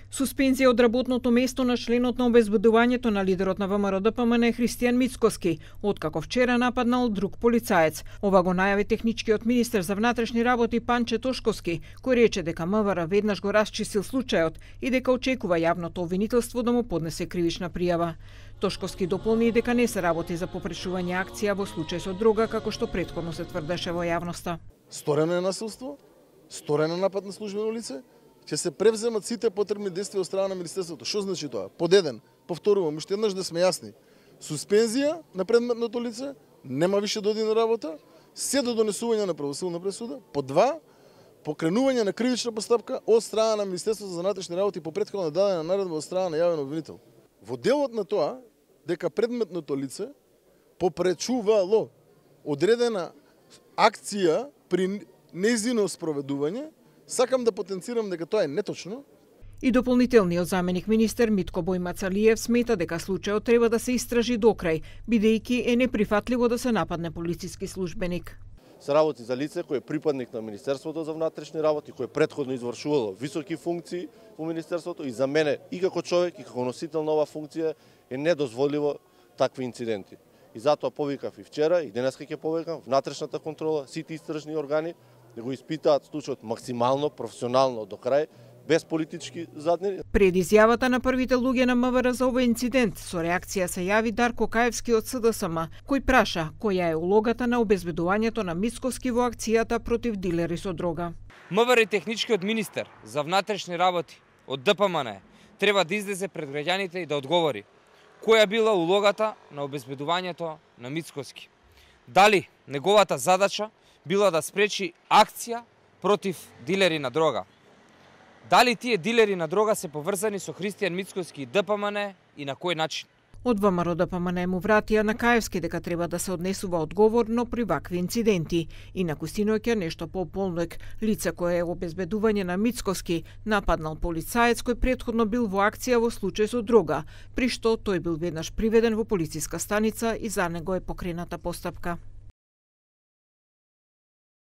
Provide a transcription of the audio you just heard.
Суспензија од работното место на членот на обезбедувањето на лидерот на ВМРО-ДПМН Христијан Мицкоски, откако вчера нападнал друг полицаец. Ова го најави техничкиот министер за внатрешни работи Панче Тошковски, кој рече дека МВР веднаш го расчистил случајот и дека очекува јавното обвинителство да му поднесе кривична пријава. Тошковски дополни дека не се работи за попречување акција во случај со дрога, како што претходно се тврдеше во јавноста. Сторено е насилство, сторено напад на службено лице, ќе се превземат сите потребни действија од страна на Министерството. Што значи тоа? Под еден, повторувам, уште еднаш да сме јасни. Суспензија на предметното лице, нема више да оди на работа, се до донесување на правосилна пресуда. Под два, покренување на кривична постапка од страна на Министерството за внатрешни работи по претходно дадена наредба од страна на јавен обвинител. Во делот на тоа, дека предметното лице попречувало одредена акција при нејзино спроведување, сакам да потенцирам дека тоа е неточно. И дополнителниот заменик министер Митко Бојмацалиев смета дека случајот треба да се истражи докрај, бидејќи е неприфатливо да се нападне полициски службеник. Се работи за лице кој е припадник на Министерството за внатрешни работи, кој е претходно извршувало високи функции во Министерството и за мене и како човек и како носител на оваа функција е недозволиво такви инциденти. И затоа повикав и вчера и денеска ќе повикам внатрешната контрола, сите истражни органи да го испитаат случајот максимално професионално до крај, без политички заднини. Пред изјавата на првите луѓе на МВР за овој инцидент, со реакција се јави Дарко Каевски од СДСМ, кој праша која е улогата на обезбедувањето на Мицкоски во акцијата против дилери со дрога. МВР и техничкиот министер за внатрешни работи од ДПМН треба да излезе пред граѓаните и да одговори која била улогата на обезбедувањето на Мицкоски. Дали неговата задача била да спречи акција против дилери на дрога? Дали тие дилери на дрога се поврзани со Христијан Мицкоски и ДПМН и на кој начин? Од ВМРО-ДПМН му вратија на Каевски дека треба да се однесува одговорно при вакви инциденти. И на Костиноќа нешто по-полнек, лице кое е обезбедување на Мицкоски нападнал полицаец кој претходно бил во акција во случај со дрога, при што тој бил веднаш приведен во полициска станица и за него е покрената постапка.